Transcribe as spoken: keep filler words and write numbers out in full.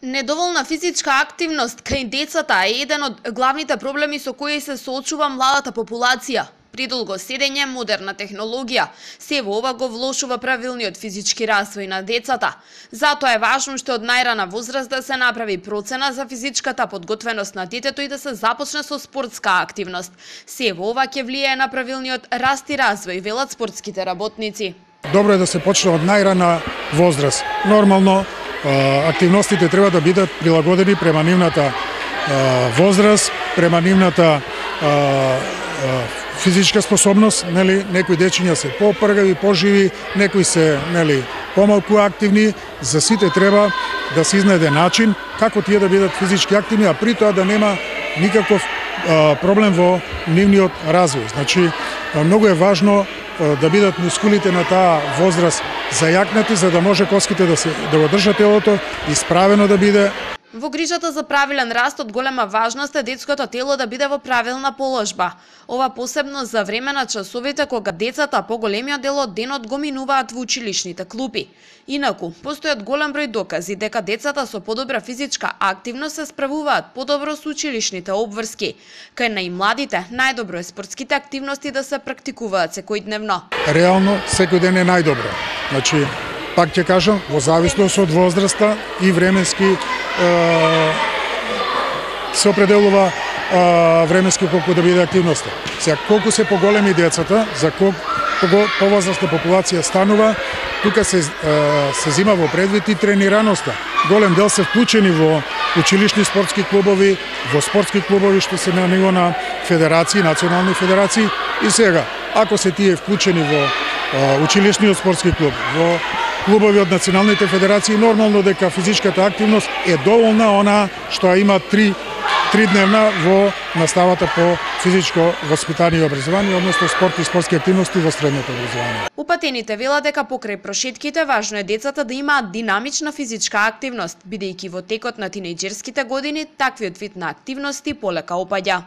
Недоволна физичка активност кај децата е еден од главните проблеми со кои се соочува младата популација. Придолго седење, модерна технологија, се во ова го влошува правилниот физички развој на децата. Затоа е важно што од најрана возраст да се направи процена за физичката подготвеност на детето и да се започне со спортска активност. Се во ова ќе влијае на правилниот раст и развој, велат спортските работници. Добро е да се почне од најрана возраст. Нормално, активностите треба да бидат прилагодени према нивната возраст, према нивната физичка способност, нели, некои дечиња се попргави, поживи, некои се, нели, помалку активни. За сите треба да се изнајде начин како тие да бидат физички активни, а при тоа да нема никаков а, проблем во нивниот развој. Значи, многу е важно а, да бидат мускулите на таа возраст зајакнати, за да може коските да се да го држат телото, исправено да биде. Во грижата за правилен раст од голема важност е детското тело да биде во правилна положба. Ова посебно за време на часовите кога децата поголемиот дел од денот го минуваат во училишните клупи. Инаку, постојат голем број докази дека децата со подобра физичка активност се справуваат подобро со училишните обврски. Кај најмладите, најдобро е спортските активности да се практикуваат секојдневно. Реално, секој ден е најдобро. Значи, пак ќе кажам, во зависност од возраста и временски е, се определува е, временски колку да биде активноста. Сега, колку се поголеми децата, за колку повозрастна популација станува, тука се, е, се зима во предвид и тренираноста. Голем дел се вклучени во училишни спортски клубови, во спортски клубови што се на ниво на федерации, национални федерации. И сега, ако се тие вклучени во е, училишниот спортски клуб, во клубови од националните федерации, нормално дека физичката активност е доволна она што има три тридневна во наставата по физичко воспитание и образование, односно спорт и спортски активности во средното образование. Упатените велат дека покрај прошетките важно е децата да имаат динамична физичка активност, бидејќи во текот на тинејџерските години таквиот вид на активности полека опаѓа.